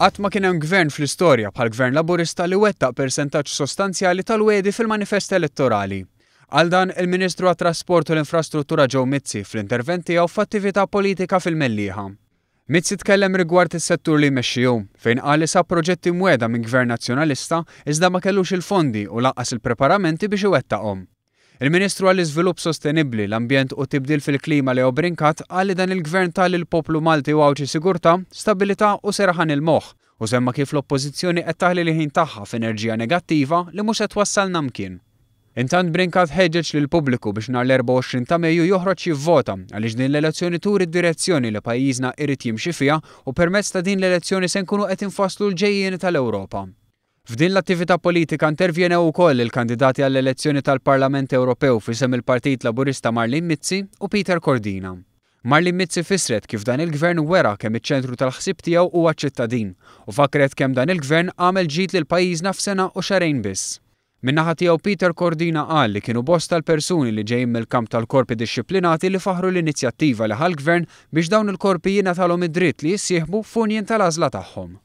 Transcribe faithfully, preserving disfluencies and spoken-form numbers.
Qatt ma kien hemm gvern fl-istorja bħal gvern Laburista li wettaq persentaġġ sostanzjali tal-wegħdi fil-manifest elettorali. Għal dan il-Ministru għat-Trasport u l-Infrastruttura Joe Mizzi fl-intervent tiegħu f'attività politika fil-Mellieħa. Mizzi tkellem rigward is-settur li jmexxi hu, fejn qal li sab proġetti mwegħda minn gvern nazzjonalista iżda ma kellux il-fondi u lanqas il-preparamenti biex iwettaqhom. Il-Ministru għall-Iżvilupp Sostenibbli, l-Ambjent u Tibdil fil-Klima Leo Brincat qal li dan il-gvern ta lill-poplu Malti u Għawdxi sigurtà, stabilità u serħan il-moħħ u semma kif l-Oppożizzjoni qed taħli l-ħin tagħha f'enerġija negattiva li mhux qed twassalna mkien. Intant Brincat ħeġġeġ lill-pubbliku biex nhar l-erbgħa u għoxrin ta' Mejju joħroġ jivvota għaliex din l-elezzjoni turi d-direzzjoni li pajjiżna irid jimxi fiha u permezz ta' din l-elezzjoni se nkunu qed infasslu l-ġejjieni tal-Ewropa. F'din l-attività politika intervjenew ukoll il-kandidati għall-elezzjoni tal-Parlament Ewropew f'isem il-Partit Laburista Marlene Mizzi u Peter Cordina. Marlene Mizzi fissret kif dan il-gvern wera kemm iċ-ċentru tal-ħsieb tiegħu huwa ċ-ċittadin u fakret kemm dan il-gvern għamel ġid lil pajjiżna f'sena u xahrejn biss. Min-naħa tiegħu Peter Cordina qal li kienu bosta l-persuni li ġejjin mill-kamp tal-korpi dixxiplinati li faħru l-inizjattiva li ħa l-gvern biex dawn il-korpi jingħatalhom id-dritt li jissieħbu f'union tal-għażla tagħhom.